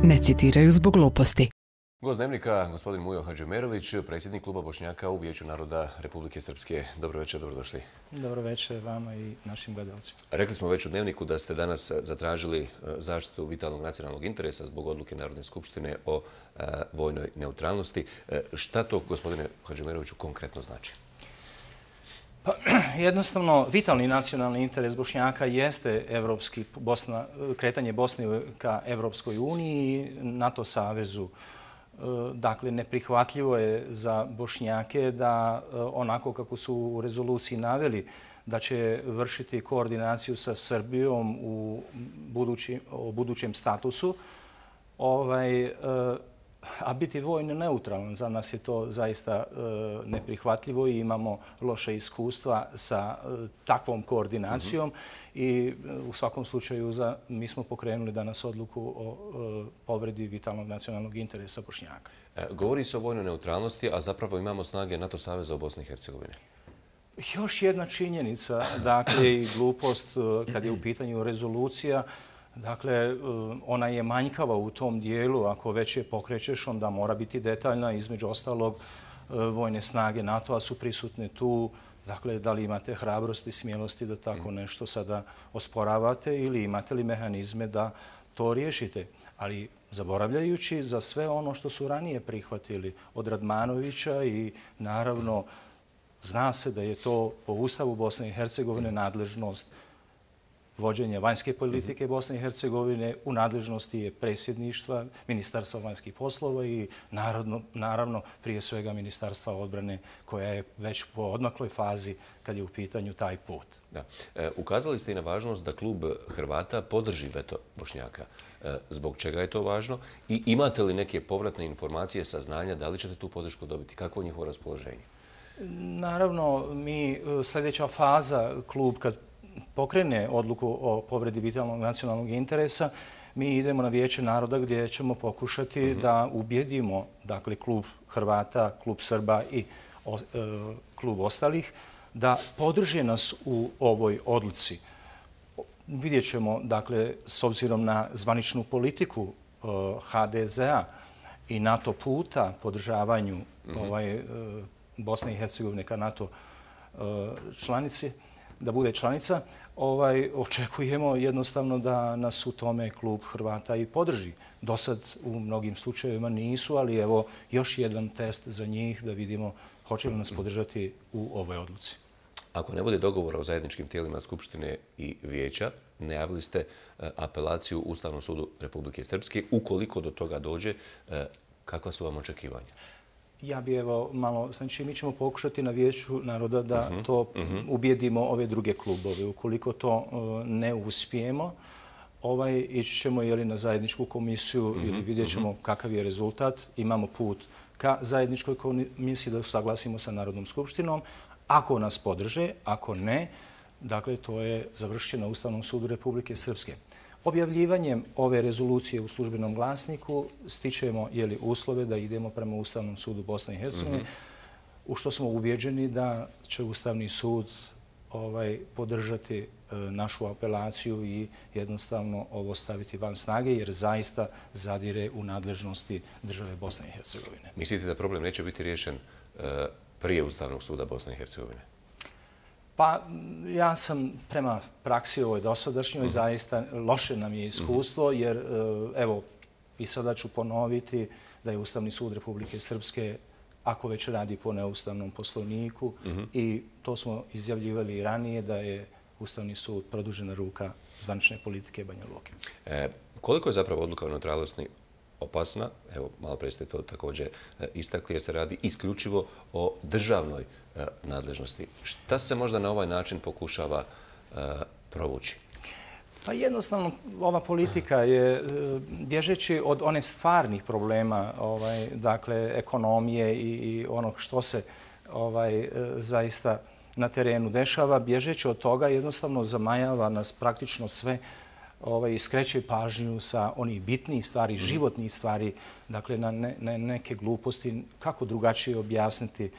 ne citiraju zbog gluposti. Gost Dnevnika, gospodin Mujo Hadžimerović, predsjednik Kluba Bošnjaka u Vijeću naroda Republike Srpske. Dobro večer, dobrodošli. Dobro večer vama i našim gledalcima. Rekli smo već u Dnevniku da ste danas zatražili zaštitu vitalnog nacionalnog interesa zbog odluke Narodne skupštine o vojnoj neutralnosti. Šta to, gospodine Hadžimeroviću, konkretno znači? Pa, jednostavno, vitalni nacionalni interes Bošnjaka jeste kretanje Bosne ka Evropskoj uniji, NATO savezu. Dakle, neprihvatljivo je za Bošnjake da onako kako su u rezoluciji naveli da će vršiti koordinaciju sa Srbijom u budućem statusu, a biti vojno neutralan. Za nas je to zaista neprihvatljivo i imamo loše iskustva sa takvom koordinacijom i u svakom slučaju mi smo pokrenuli danas odluku o povredi vitalnog nacionalnog interesa Bošnjaka. Govori se o vojnoj neutralnosti, a zapravo imamo snage NATO saveza u Bosni i Hercegovini. Još jedna činjenica, dakle i glupost kad je u pitanju rezolucija. Dakle, ona je manjkava u tom dijelu. Ako već je pokrećeš, onda mora biti detaljna. Između ostalog, vojne snage NATO-a su prisutne tu. Dakle, da li imate hrabrosti, smjelosti da tako nešto sada osporavate ili imate li mehanizme da to riješite? Ali zaboravljajući za sve ono što su ranije prihvatili od Radmanovića i naravno zna se da je to po Ustavu Bosne i Hercegovine nadležnost vođenja vanjske politike Bosne i Hercegovine, u nadležnosti je predsjedništva, Ministarstva vanjskih poslova i naravno prije svega Ministarstva odbrane koja je već po odmakloj fazi kad je u pitanju taj put. Da. Ukazali ste i na važnost da klub Hrvata podrži veto Bošnjaka. Zbog čega je to važno? I imate li neke povratne informacije, saznanja, da li ćete tu podršku dobiti? Kako je njihovo raspoloženje? Naravno, sljedeća faza, klub kad pokrene odluku o povredi vitalnog nacionalnog interesa, mi idemo na Vijeće naroda gdje ćemo pokušati da ubjedimo, dakle, klub Hrvata, klub Srba i klub ostalih, da podrže nas u ovoj odluci. Vidjet ćemo, dakle, s obzirom na zvaničnu politiku HDZ-a i NATO puta podržavanju Bosne i Hercegovine ka NATO članici, da bude članica, očekujemo jednostavno da nas u tome klub Hrvata i podrži. Dosad u mnogim slučajevima nisu, ali evo još jedan test za njih da vidimo hoće li nas podržati u ovoj odluci. Ako ne bude dogovora o zajedničkim tijelima Skupštine i Vijeća, najavili ste apelaciju Ustavnom sudu Republike Srpske. Ukoliko do toga dođe, kakva su vam očekivanja? Ja bi malo, znači mi ćemo pokušati na Vijeću naroda da to ubijedimo ove druge klubove. Ukoliko to ne uspijemo, ići ćemo na zajedničku komisiju ili vidjet ćemo kakav je rezultat. Imamo put ka zajedničkoj komisiji da usaglasimo sa Narodnom skupštinom. Ako nas podrže, ako ne, dakle to je završeno na Ustavnom sudu Republike Srpske. Objavljivanjem ove rezolucije u službenom glasniku stičemo uslove da idemo prema Ustavnom sudu Bosne i Hercegovine, u što smo ubjeđeni da će Ustavni sud podržati našu apelaciju i jednostavno ovo staviti van snage, jer zaista zadire u nadležnosti države Bosne i Hercegovine. Mislite da problem neće biti riješen prije Ustavnog suda Bosne i Hercegovine? Pa ja sam prema praksi ovoj dosadašnjoj, zaista loše nam je iskustvo, jer evo i sada ću ponoviti da je Ustavni sud Republike Srpske, ako već radi po neustavnom poslovniku, i to smo izjavljivali i ranije, da je Ustavni sud produžena ruka zvanične politike Banja Luke. Koliko je zapravo odluka o neutralnosti opasna? Evo, malo prije ste to također istakli, jer se radi isključivo o državnoj nadležnosti. Šta se možda na ovaj način pokušava provući? Pa jednostavno, ova politika je, bježeći od one stvarnih problema, dakle, ekonomije i onog što se zaista na terenu dešava, bježeći od toga jednostavno zamajava nas praktično sve i skreće pažnju sa onih bitnijih stvari, životnih stvari, dakle, na neke gluposti, kako drugačije objasniti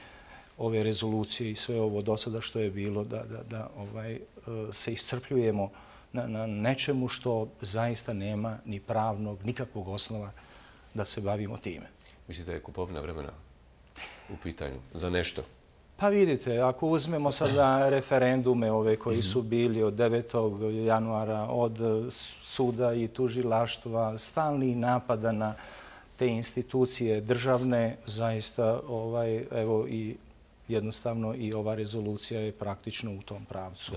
ove rezolucije i sve ovo do sada što je bilo, da se iscrpljujemo na nečemu što zaista nema ni pravnog, nikakvog osnova da se bavimo time. Mislite da je kupovina vremena u pitanju za nešto? Pa vidite, ako uzmemo sada referendume ove koji su bili od 9. januara, od suda i tužilaštva, stalnih napada na te institucije državne, zaista evo i jednostavno i ova rezolucija je praktično u tom pravcu.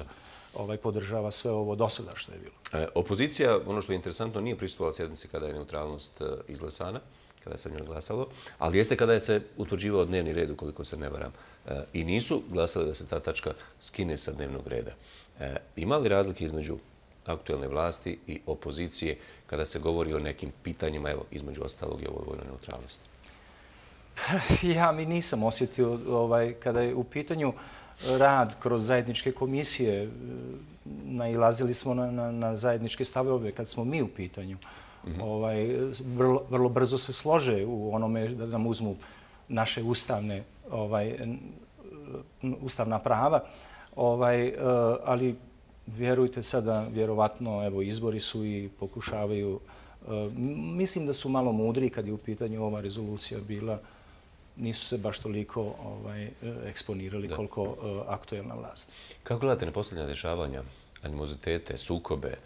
Podržava sve ovo do sada što je bilo. Opozicija, ono što je interesantno, nije pristupala sjednici kada je neutralnost izglasana, kada se o njoj glasalo, ali jeste kada je se utvrđivao dnevni red, ukoliko se ne varam, i nisu glasali da se ta tačka skine sa dnevnog reda. Ima li razlike između aktuelne vlasti i opozicije kada se govori o nekim pitanjima, evo, između ostalog i ovoj vojnoj neutralnosti? Ja mi nisam osjetio kada je u pitanju rad kroz zajedničke komisije, nailazili smo na zajedničke stavove kad smo mi u pitanju. Vrlo brzo se slože u onome da nam uzmu naše ustavna prava, ali vjerujte sada, vjerovatno, evo, izbori su i pokušavaju. Mislim da su malo mudri kad je u pitanju ova rezolucija bila. Nisu se baš toliko eksponirali koliko aktuelna vlast. Kako gledate na posljednja dešavanja, animozitete, sukobe,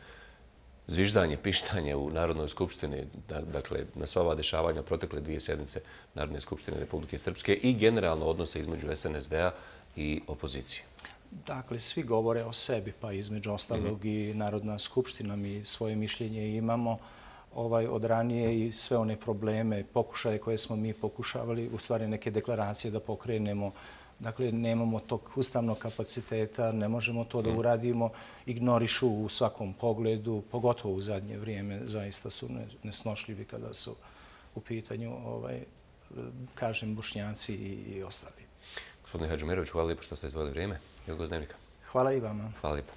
zviždanje, pištanje u Narodnoj skupštini, dakle, na sva ova dešavanja protekle 2 sjednice Narodne skupštine Republike Srpske i generalno odnose između SNSD-a i opozicije? Dakle, svi govore o sebi, pa između ostalog i Narodna skupština. Mi svoje mišljenje imamo od ranije i sve one probleme, pokušaje koje smo mi pokušavali, u stvari neke deklaracije da pokrenemo. Dakle, nemamo tog ustavnog kapaciteta, ne možemo to da uradimo, ignorišu u svakom pogledu, pogotovo u zadnje vrijeme, zaista su nesnošljivi kada su u pitanju, kažem, Bošnjaci i ostali. Gospodine Hadžomerović, hvala lijepo što ste izdvojili vrijeme. Hvala i vama. Hvala i vama. Hvala lijepo.